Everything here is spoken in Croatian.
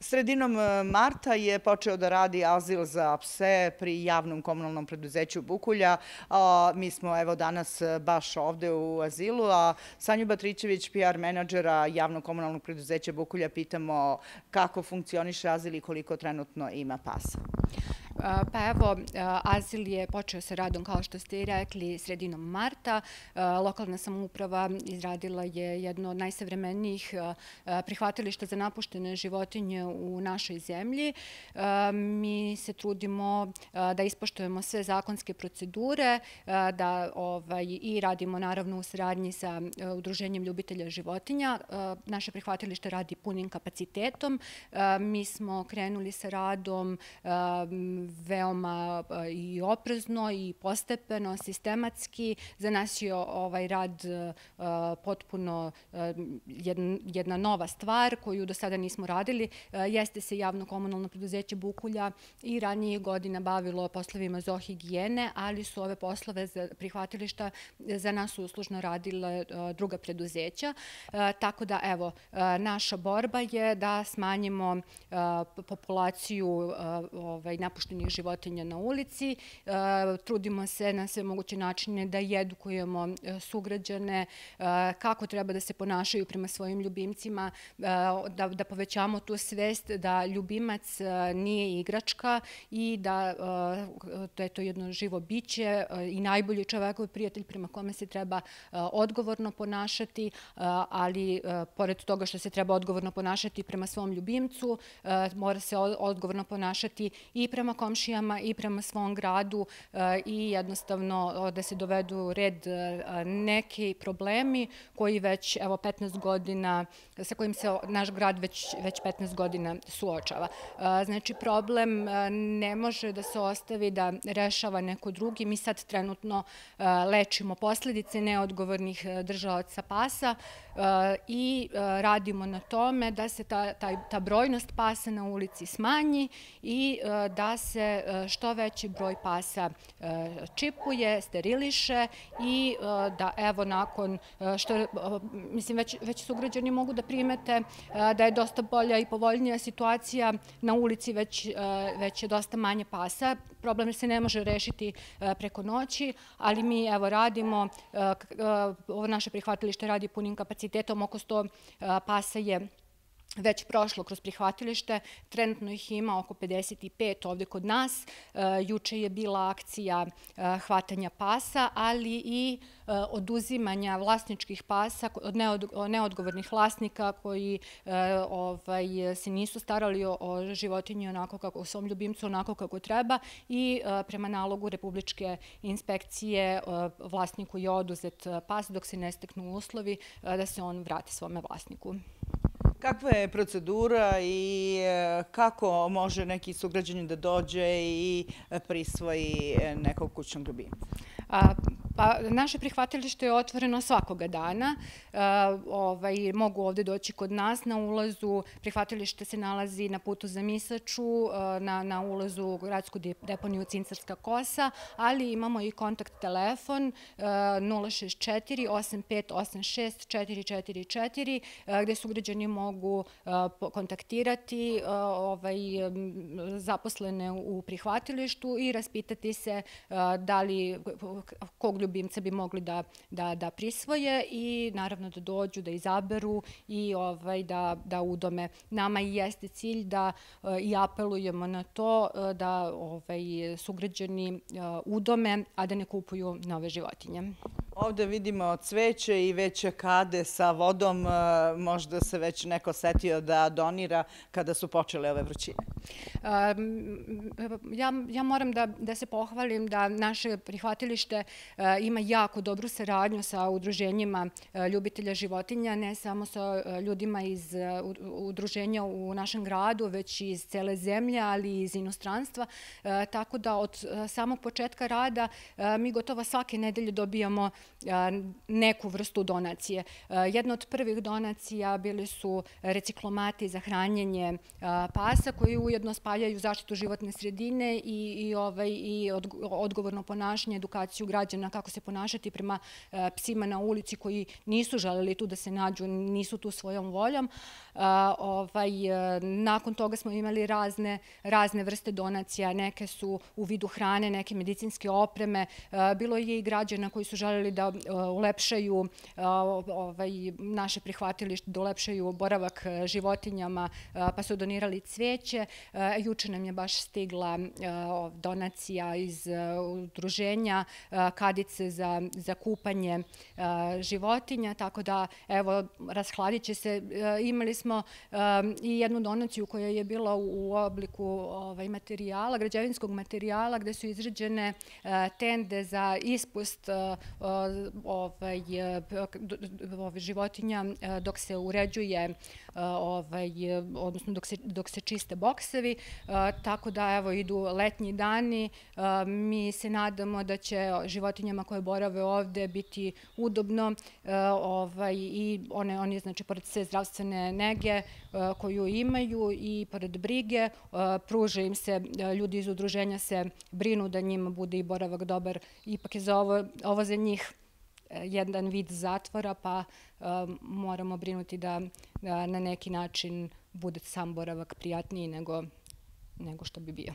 Sredinom marta je počeo da radi azil za pse pri javnom komunalnom preduzeću Bukulja. Mi smo evo danas baš ovde u azilu, a Sanju Batrićević, PR menadžera javnog komunalnog preduzeća Bukulja, pitamo kako funkcioniše azil i koliko trenutno ima pasa. Pa evo, azil je počeo sa radom, kao što ste i rekli, sredinom marta. Lokalna samouprava izradila je jedno od najsavremenijih prihvatilišta za napuštene životinje u našoj zemlji. Mi se trudimo da ispoštujemo sve zakonske procedure, da i radimo naravno u saradnji sa Udruženjem ljubitelja životinja. Naše prihvatilište radi punim kapacitetom. Mi smo krenuli sa radom veoma i oprezno i postepeno, sistematski. Za nas je ovaj rad potpuno jedna nova stvar koju do sada nismo radili. Jeste se javno komunalno preduzeće Bukulja i ranije godina bavilo poslovima zoohigijene, ali su ove poslove za prihvatilišta za nas uslužno radile druga preduzeća. Tako da, evo, naša borba je da smanjimo populaciju napuštenih životinja na ulici. Trudimo se na sve moguće načine da edukujemo sugrađane kako treba da se ponašaju prema svojim ljubimcima, da povećamo tu svest da ljubimac nije igračka i da je to jedno živo biće i najbolji čovekov prijatelj prema kome se treba odgovorno ponašati, ali pored toga što se treba odgovorno ponašati prema svom ljubimcu, mora se odgovorno ponašati i prema komšijama i prema svom gradu i jednostavno da se dovedu u red neki problemi koji već, evo, 15 godina, sa kojim se naš grad već 15 godina suočava. Znači, problem ne može da se ostavi da rešava neko drugi. Mi sad trenutno lečimo posledice neodgovornih držalaca pasa i radimo na tome da se ta brojnost pasa na ulici smanji i da se što veći broj pasa čipuje, steriliše i da, evo, nakon što, mislim, već sugrađani mogu da primete da je dosta bolja i povoljnija situacija na ulici, već je dosta manje pasa. Problem se ne može rešiti preko noći, ali mi, evo, radimo, ovo naše prihvatilište radi punim kapacitetom, oko 100 pasa je već prošlo kroz prihvatilište, trenutno ih ima oko 55 ovde kod nas. Juče je bila akcija hvatanja pasa, ali i oduzimanja vlasničkih pasa od neodgovornih vlasnika koji se nisu starali o životinji onako kako, o svom ljubimcu onako kako treba i prema nalogu Republičke inspekcije vlasniku je oduzet pas dok se ne steknu uslovi da se on vrati svome vlasniku. Kakva je procedura i kako može neki sugrađanin da dođe i prisvoji nekog kućnog ljubimca? Pa, naše prihvatilište je otvoreno svakoga dana. Mogu ovde doći kod nas. Na ulazu prihvatilište se nalazi na putu za Misaču, na ulazu u gradsku deponiju Cincarska kosa, ali imamo i kontakt telefon 064 8586 444, gde sugrađani mogu kontaktirati zaposlene u prihvatilištu i raspitati se da li kog ljubimca bi mogli da prisvoje i naravno da dođu, da izaberu i da udome. Nama i jeste cilj da i apelujemo na to da sugrađani udome, a da ne kupuju nove životinje. Ovde vidimo cveće i već kade sa vodom. Možda se već neko setio da donira kada su počele ove vrućine. Ja moram da se pohvalim da naše prihvatilište ima jako dobru saradnju sa udruženjima ljubitelja životinja, ne samo sa ljudima iz udruženja u našem gradu, već i iz cele zemlje, ali i iz inostranstva. Tako da od samog početka rada mi gotovo svake nedelje dobijamo neku vrstu donacije. Jedna od prvih donacija bili su reciklomati za hranjenje pasa koji ujedno spaljaju zaštitu životne sredine i odgovorno ponašanje, edukaciju građana kako se ponašati prema psima na ulici koji nisu želeli tu da se nađu, nisu tu svojom voljom. Nakon toga smo imali razne vrste donacija, neke su u vidu hrane, neke medicinske opreme. Bilo je i građana koji su želeli da ulepšaju naše prihvatilište, da ulepšaju boravak životinjama, pa su donirali cveće. Juče nam je baš stigla donacija iz udruženja kadice za kupanje životinja, tako da, evo, rashladit će se. Imali smo i jednu donaciju koja je bila u obliku materijala, građevinskog materijala, gde su izrađene tende za ispust životinja dok se uređuje, odnosno dok se čiste boksevi, tako da, evo, idu letnji dani. Mi se nadamo da će životinjama koje borave ovde biti udobno i oni, znači, pored sve zdravstvene nege koju imaju i pored brige, pruže im se, ljudi iz udruženja se brinu da njima bude i boravak dobar. Ipak je ovo za njih jedan vid zatvora, pa moramo brinuti da na neki način bude sam boravak prijatniji nego što bi bio.